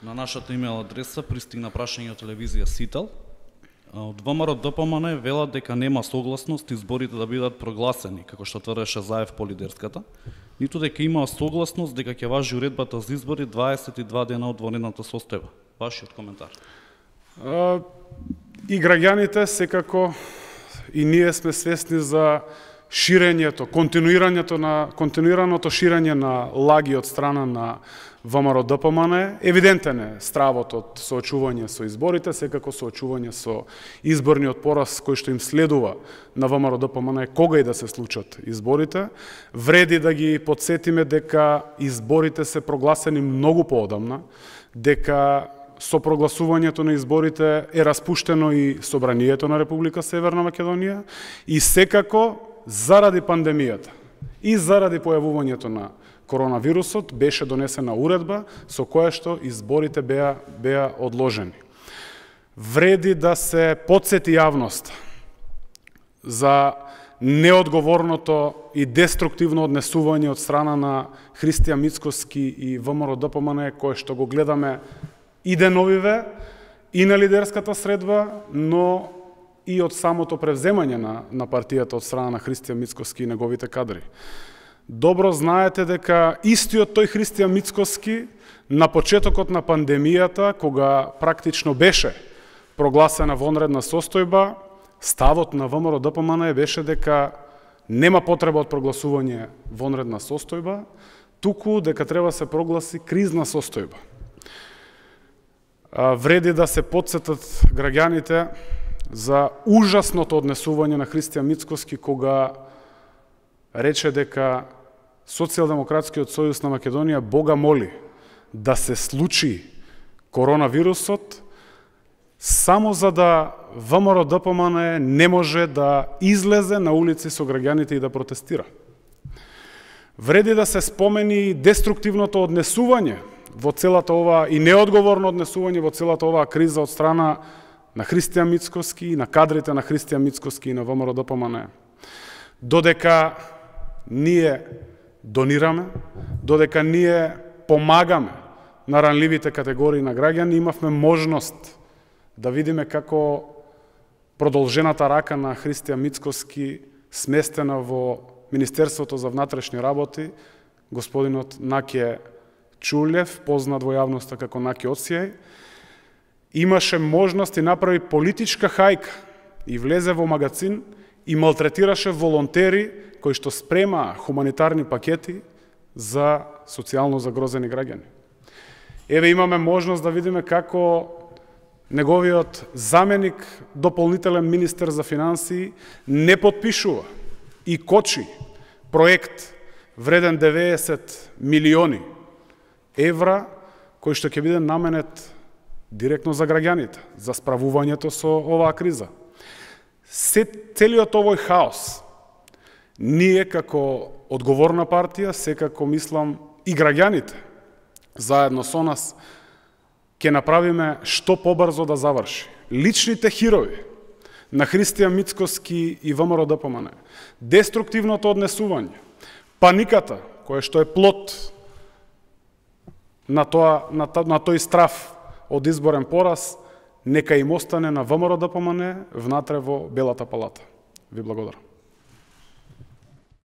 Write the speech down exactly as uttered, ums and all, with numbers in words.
На нашата имейл адреса пристигна прашање од телевизија Сител. Од ВМРО Д П М Н велат дека нема согласност изборите да бидат прогласени, како што тврдеше Заев по лидерската, ниту дека има согласност дека ќе важи уредбата за избори дваесет и два дена од вонредната состојба. Вашиот коментар? А, и граѓаните секако и ние сме свесни за ширењето, континуирањето на континуираното ширење на лаги од страна на ВМРО Д П М Н. Евидентен е стравот од соочување со изборите, секако соочување со изборниот пораз кој што им следува на ВМРО Д П М Н кога и да се случат изборите. Вреди да ги подсетиме дека изборите се прогласени многу поодамна, дека со прогласувањето на изборите е распуштено и Собранието на Република Северна Македонија и секако заради пандемијата и заради појавувањето на коронавирусот беше донесена уредба со која што изборите беа беа одложени. Вреди да се потсети јавност за неодговорното и деструктивно однесување од страна на Христијан Мицкоски и ВМРО Д П М Н кое што го гледаме и деновиве и на лидерската средба, но и од самото превземање на, на партијата од страна на Христијан Мицкоски и неговите кадри. Добро знаете дека истиот тој Христијан Мицкоски на почетокот на пандемијата, кога практично беше прогласена вонредна состојба, ставот на ВМРО Д П М Н беше дека нема потреба од прогласување вонредна состојба, туку дека треба се прогласи кризна состојба. Вреди да се потсетат граѓаните за ужасното однесување на Христијан Мицкоски кога рече дека Социјалдемократскиот сојуз на Македонија Бога моли да се случи коронавирусот само за да ВМРО Д П М Н не може да излезе на улици со граѓаните и да протестира. Вреди да се спомени деструктивното однесување во целата ова и неодговорно однесување во целата оваа криза од страна на Христијан Мицкоски и на кадрите на Христијан Мицкоски и на ВМРО Д П М Н. Додека ние донираме, додека ние помагаме на ранливите категории на граѓани, имавме можност да видиме како продолжената рака на Христијан Мицкоски сместена во Министерството за внатрешни работи, господинот Наке Чулев, познат во јавноста како Наке Осијај, имаше можност и направи политичка хајка и влезе во магазин и малтретираше волонтери кои што спремаа хуманитарни пакети за социјално загрозени граѓани. Еве имаме можност да видиме како неговиот заменик, дополнителен министер за финансии, не потпишува и кочи проект вреден деветдесет милиони евра, кој што ќе биде наменет директно за граѓаните, за справувањето со оваа криза. Се, целиот овој хаос, ние како одговорна партија, секако мислам и граѓаните, заедно со нас, ќе направиме што побрзо да заврши. Личните хирови на Христијан Мицкоски и ВМРО Д П М Н, деструктивното однесување, паниката, која што е плод на, тоа, на, на тој страф од изборен пораз, нека им остане на ВМРО Д П М Н внатре во Белата палата. Ви благодарам.